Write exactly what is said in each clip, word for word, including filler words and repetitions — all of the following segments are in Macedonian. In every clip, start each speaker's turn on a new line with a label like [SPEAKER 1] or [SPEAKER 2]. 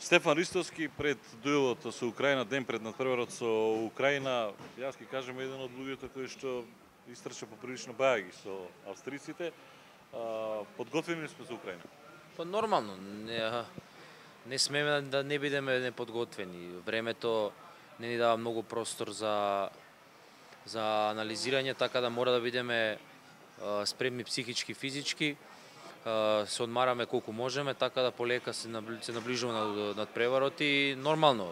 [SPEAKER 1] Стефан Ристовски пред дуелот со Украина, ден пред надпреварот со Украина, јас ќе кажем еден од луѓето кои што истрча поприлично бајаги со австриците. Подготвени сме за Украина?
[SPEAKER 2] Па нормално, не, не смеме да не бидеме неподготвени. Времето не ни дава многу простор за за анализирање, така да мора да бидеме спремни психички, физички. Се одмараме колку можеме, така да полека се наближуваме над преварот и нормално.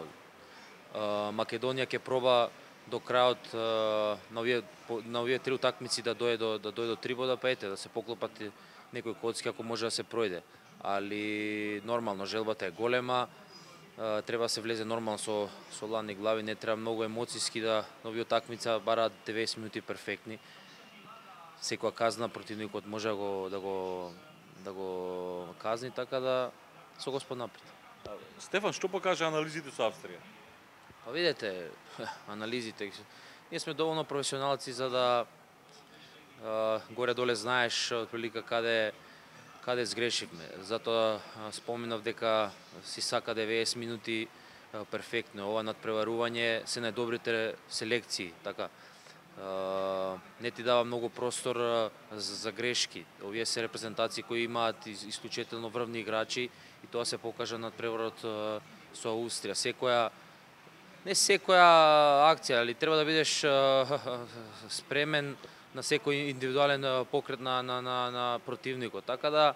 [SPEAKER 2] Македонија ќе проба до крајот на овие на овие три утакмици да дојде до да дојде до три бода, па ете да се поклопат некои коцки ако може да се пројде. Али нормално желбата е голема. Треба да се влезе нормално со со ладни глави, не треба многу емоциски да на овие утакмица бараат деветдесет минути перфектни. Секоја казна противникот може да го да го да го казни, така да со Господ напред.
[SPEAKER 1] Стефан, што покажа анализите со Австрија?
[SPEAKER 2] Па видете, анализите. Ние сме доволно професионалци за да горе-доле знаеш отприлика каде каде сгрешивме. Затоа споменав дека си сака деветдесет минути перфектно. Ова надпреварување се најдобрите селекции, така. Не ти дава многу простор за грешки. Овие се репрезентации кои имаат исклучително врвни играчи и тоа се покажа над преварот со Австрија. Секоја не секоја акција, али треба да бидеш спремен на секој индивидуален покрет на на на, на противникот. Така да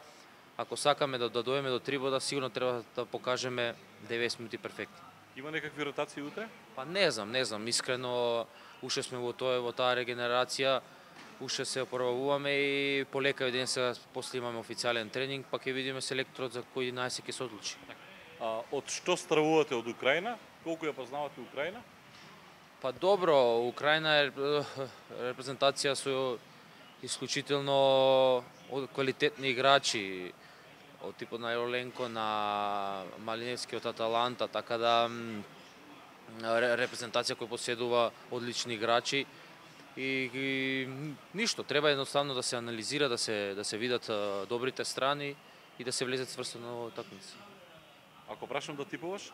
[SPEAKER 2] ако сакаме да, да дојдеме до три бода, сигурно треба да покажеме деветдесет минути перфектни.
[SPEAKER 1] Има некакви ротации утре?
[SPEAKER 2] Па не знам, не знам, искрено уште сме во тоа во таа регенерација, уште се опробуваме и полека ден сега после имаме официјален тренинг, па ќе видиме селекторот за кој најсе ќе се одлучи.
[SPEAKER 1] А, од што стравувате од Украина? Колку ја познавате Украина?
[SPEAKER 2] Па добро, Украина е репрезентација со исклучително квалитетни играчи, од типот на Јоленко, на Малиневски од Аталанта, така да репрезентација која поседува одлични играчи и, и ништо, треба едноставно да се анализира, да се да се видат добрите страни и да се влезе цврсто во такмица.
[SPEAKER 1] Ако прашам да типуваш?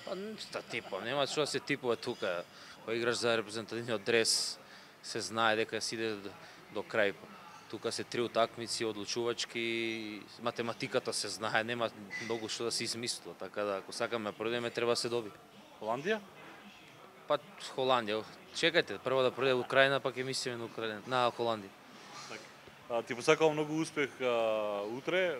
[SPEAKER 2] Па да типувам, нема што да се типува тука. Кога играш за репрезентативниот дрес, се знае дека си иде до крај. Тука се три утакмици одлучувачки, математиката се знае, нема многу што да се измислува, така да ако сакаме да пројдеме треба да се доби.
[SPEAKER 1] Холандија?
[SPEAKER 2] Па Холандија. Чекајте, прво да пројде Украина, па ќе мислиме на Украина, на Холандија.
[SPEAKER 1] Така. Ти посакувам многу успех а, утре.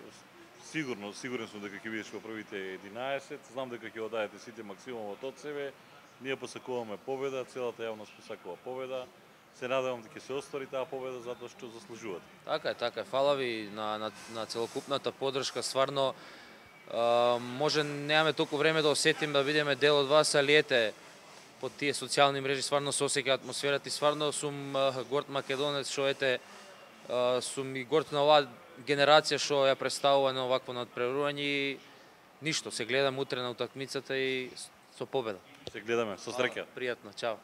[SPEAKER 1] Сигурно, сигурен сум дека ќе бидеш во првите единаесет. Знам дека ќе одадете сите максимумот од себе. Ние посакуваме победа, целата јавност посакува победа. Се надевам дека ќе се оствари таа победа затоа што заслужувате.
[SPEAKER 2] Така е, така е. Фала ви на на на целокупната поддршка. Стварно а, може немаме толку време да осетим да бидеме дел од вас, али ете по тие социјални мрежи стварно се осеќа атмосферата и стварно сум горд македонец што ете сум и горд на оваа генерација што ја представува на овакво надпреварување и ништо, се гледам утре на утакмицата и со победа.
[SPEAKER 1] Се гледаме, со среќа.
[SPEAKER 2] Пријатно, чао.